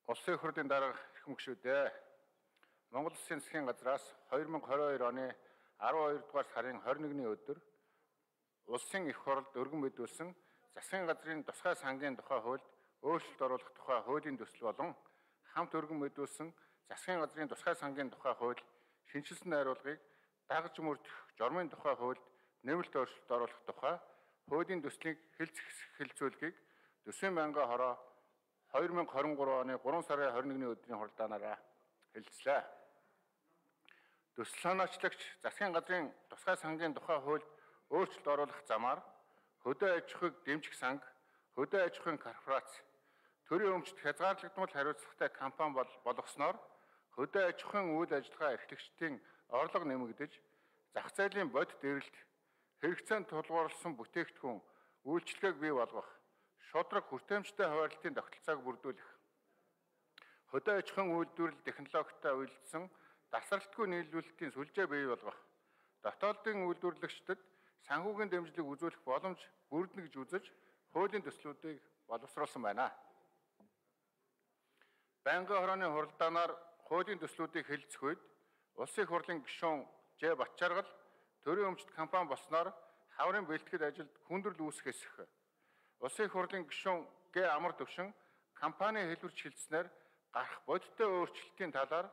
Улсын их хурлын дарга эрхэм гишүүдээ Монгол Улсын засгийн газраас 2022 оны 12 дугаар сарын 21-ний өдөр Улсын их хурлд өргөн мэдүүлсэн засгийн газрын тусгай сангийн тухай хуульд өөрчлөлт оруулах тухай хуулийн төсөл болон хамт өргөн мэдүүлсэн засгийн газрын тусгай сангийн тухай хууль шинжилсэн найруулгыг дагаж мөрдөх жормын тухай хуульд нэмэлт өөрчлөлт оруулах тухай хуулийн төслийг хэлэлцүүлэхийг Төсвийн байнгын хороо 2023 оны 3 сарын 21-ний өдрийн хуралдаанаараа хэлэлцлээ. Төсөл санаачлагч засгийн газрын тусгай сангийн тухай хуульд өөрчлөлт оруулах замаар хөдөө аж ахуйг дэмжих санг, хөдөө аж ахуйн корпорац, төрийн өмчт хязгаарлагдмал хариуцлагатай компани болгосноор хөдөө аж ахуйн үйл ажиллагаа эрхлэгчдийн орлого нэмэгдэж, зах зээлийн бодит эрэлт, хэрэгцээнд тулгуурласан бүтээгдэхүүн үйлчлэгийг бий болгох, шудраг хүртээмжтэй хуваарлтын тогтолцоог бүрдүүлэх, хөдөө аж ахуйн үйлдвэрлэл технологитой уялдсан тасралтгүй нийлүүлэлтийн сүлжээ бий болгох, дотоодын үйлдвэрлэгчдэд санхүүгийн дэмжлэг үзүүлэх боломж бүрдэнэ гэж үзэж хуулийн төслүүдийг боловсруулсан байна. Байнгын хорооны хуралдаанаар хуулийн төслүүдийг хэлэлцэх үед Улсын их хурлын гишүүн Ж. Батчааргал төрийн өмчт компани болсноор хаврын бэлтгэл ажилд хүндрэл үүсэх эсэх. Улсын их хурлын гишүүн Г. Амар Төвшин компани хэлбэрч хэлснээр гарах бодиттой өөрчлөлтийн талаар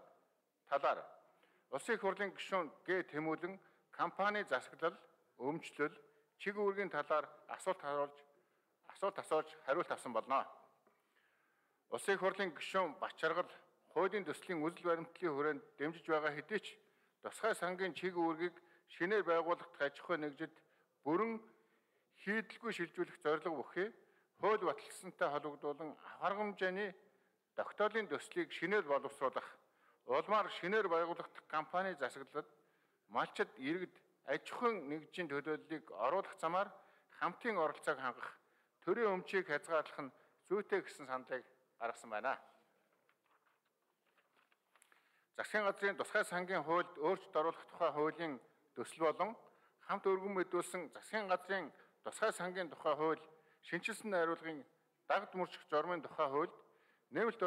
Улсын их хурлын гишүүн Г. Тэмүүлэн компани засаглал, өмчлөл, чиг үүргийн талаар асуулт асууж хариулт авсан болно. Улсын их хурлын гишүүн Батчааргал хуулийн төслийн үзэл баримтлалын хүрээнд дэмжиж байгаа хэдий ч тусгай сангийн чиг үүргийг шинээр байгуулах аж ахуй нэгжид бүрэн хийдэлгүй шилжүүлэх зорилго бүхий хууль баталсантай холбогдуулан аваргамжааны тогтоолын төслийг шинээр боловсруулах, улмаар шинээр байгуулагдах компани засаглалд малчид иргэд аж ахуйн нэгжийн төлөөллийг оруулах замаар хамтын оролцоог хангах, төрийн өмчийг хязгаарлах нь зүйтэй гэсэн саналыг гаргасан байна. Засгийн газрын тусгай сангийн хуульд өөрчлөлт оруулах тухай хуулийн төсөл болон хамт өргөн мэдүүлсэн засгийн газрын тусгай сангийн тухай хууль шинжилсэн найруулгын дагд мөрчих жормын тухай хуульд нэмэлт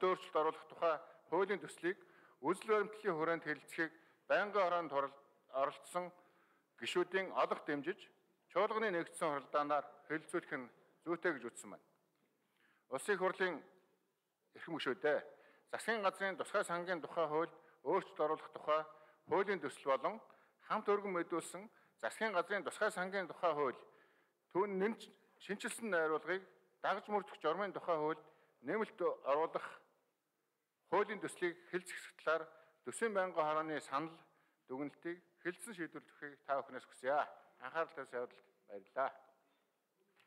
өөрчлөлт оруулах тухай хуулийн төслийг үзэл баримтлалын хүрээнд хэлэлцэхийг байнгын хороонд оролцсон гишүүдийн олох дэмжиж чуулганы нэгдсэн хуралдаанаар хэлэлцүүлэх нь зүйтэй гэж үзсэн байна. Улсын их хурлын эрхэм гишүүдээ засгийн газрын тусгай сангийн тухай хуульд өөрчлөлт оруулах тухай хуулийн төсөл болон хамт өргөн мэдүүлсэн засгийн газрын тусгай сангийн тухай хууль түүн шинжилсэн найруулгыг дагаж мөрдөх жормын тухай хуульд нэмэлт оруулах хуулийн төслийг хэлэлцэх талаар Төсвийн байнгын хорооны санал дүгнэлтийг хэлэлцэн шийдвэрлэхийг та бүхнээс хүсье. Анхаарал тавьсан явдалд баярлалаа.